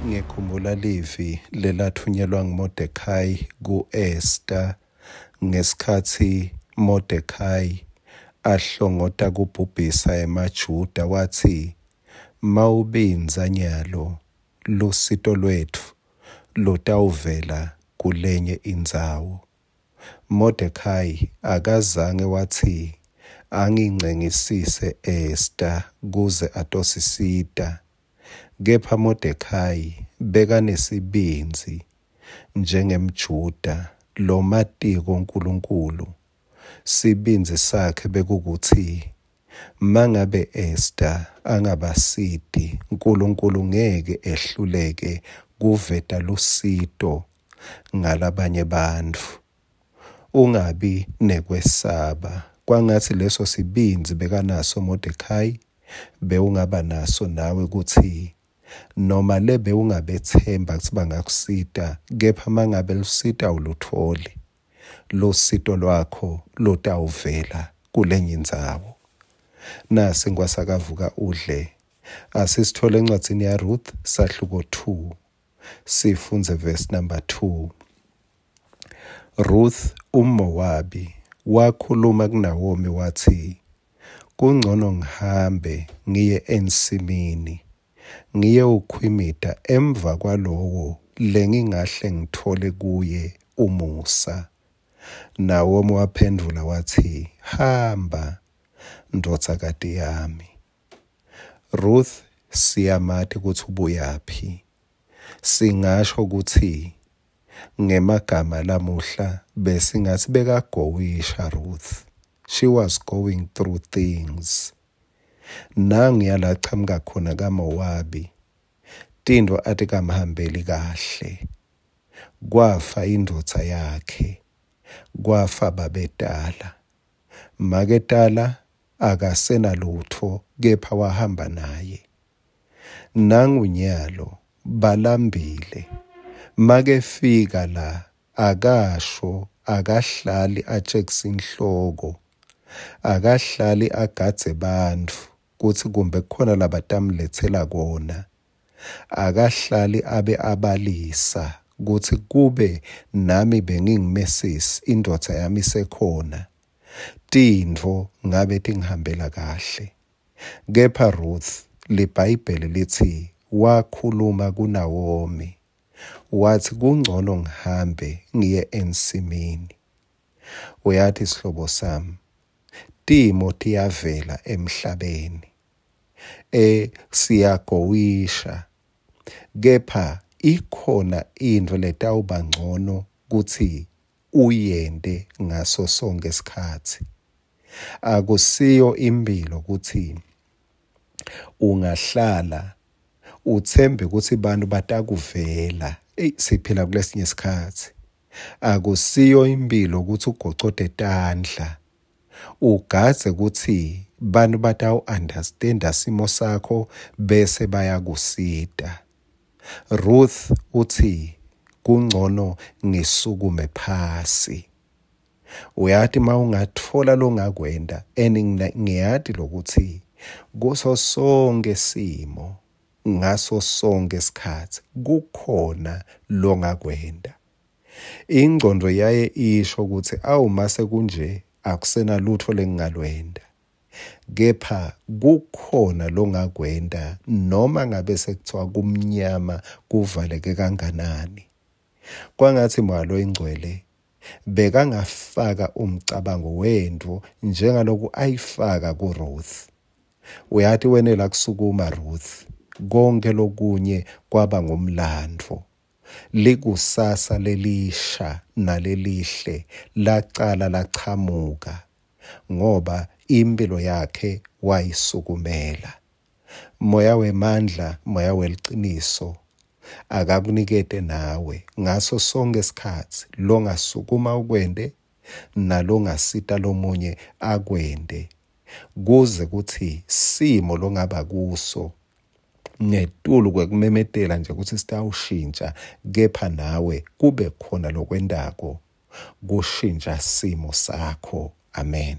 Ngikhumbula livi lelathunyelwa nguModekhayi ku-Esta ngesikhatsi Modekhayi ahlongota kubhubhisa emaJuda, watsi, Mawubindza nyalo, lusito lwetfu lutawuvela kulenye indzawo. Modekhayi akazange watsi angincengisise Esta kuze atosisita, kepha Modekhayi bekanesibindzi njengemJuda lomatiko Nkulunkulu. Sibindzi sakhe bekukutsi mangabe Esta angabasiti, Nkulunkulu ngeke ehluleke kuveta lusito ngalabanye bantfu. Ungabi nekwesaba. Kwangatsi leso sibindzi bekanaso Modekhayi bewungaba naso nawe kutsi noma le bewungabetsemba kutsi bangakusita, kepha mangabe lusito awulutholi, lusito lwakho lutawuvela kulenye indzawo. Nasi Nkwasakavuka udle. Asisithole encwadzini yaRuth sahluko 2 sifundze verse number 2. Ruth umMowabi wakhuluma kuNawomi watsi, Kungcono ngihambe ngiye ensimini ngiyewukhwimita emva kwalowo lengingahle ngitfole kuye umusa. Nawomi waphendvula watsi, Hamba, ndvodzakati yami. Ruth siyamati kutsi ubuyaphi. Singasho kutsi ngemagama lamuhla besingatsi bekagowisha Ruth. She was going through things. Nanguya la chamuka khona kaMowabi, tintfo atikamhambeli kahle. Kwafa indvodza yakhe, kwafa babetala. Maketala akasenalutfo kepha wahamba naye. Nangunyalo balambile. Makefika la akasho akahlali atjekisa inhloko, akahlali agadze bantfu kutsi kumbe kukhona labatamletsela kona. Akahlali abe abalisa kutsi kube nami bengingumesisi indvodza yami isekhona, tintfo ngabe tingihambela kahle. Kepha Ruth, liBhayibheli litsi wakhuluma kuNawomi watsi kungcono ngihambe ngiye ensimini. Uyati sihlobo sami, timo tiyavela emhlabeni. Siyagowisha kepha ikhona intfo letawuba ngcono kutsi uyente ngaso sonke isikhatsi. Akusiyo impilo kutsi ungahlala uthembe kutsi bantu batakuvela. Eyi, siphila kulesinye isikhatsi. Akusiyo impilo kutsi ugocote tandla ugadze kutsi bantu batawu-understanda simo sakho bese bayakusita. Ruth utsi kungcono ngisukume phasi. Uyati mawungatfola longakwenta, and ngiyati lokuthi kuso sonke simo ngaso sonke isikhatsi kukhona longakwenta. Ingcondo yaye isho kutsi awu mase kunje akusena lutfo lengingalwenta, kepha kukhona longakwenta noma ngabe sekuthiwa kumnyama kuvaleke kanganani. Kwangatsi Moya loyiNgcwele bekangafaka umcabango wentfo njengaloku ayifaka kuRuth. Uyati wenela kusukuma Ruth, konke lokunye kwaba ngumlandvo. Likusasa lelisha nalelihle lacala lachamuka ngoba impilo yakhe wayisukumela. Moya wemandla, moya weliciniso akakunikete nawe ngaso sonke isikhatsi longasukuma ukwente nalongasita lomunye akwente, kuze kutsi simo longaba kuso ngetulu kwekumemetela nje kutsi sitawushintsha, kepha nawe kube khona lokwentako kushintsha simo sakho. Amen.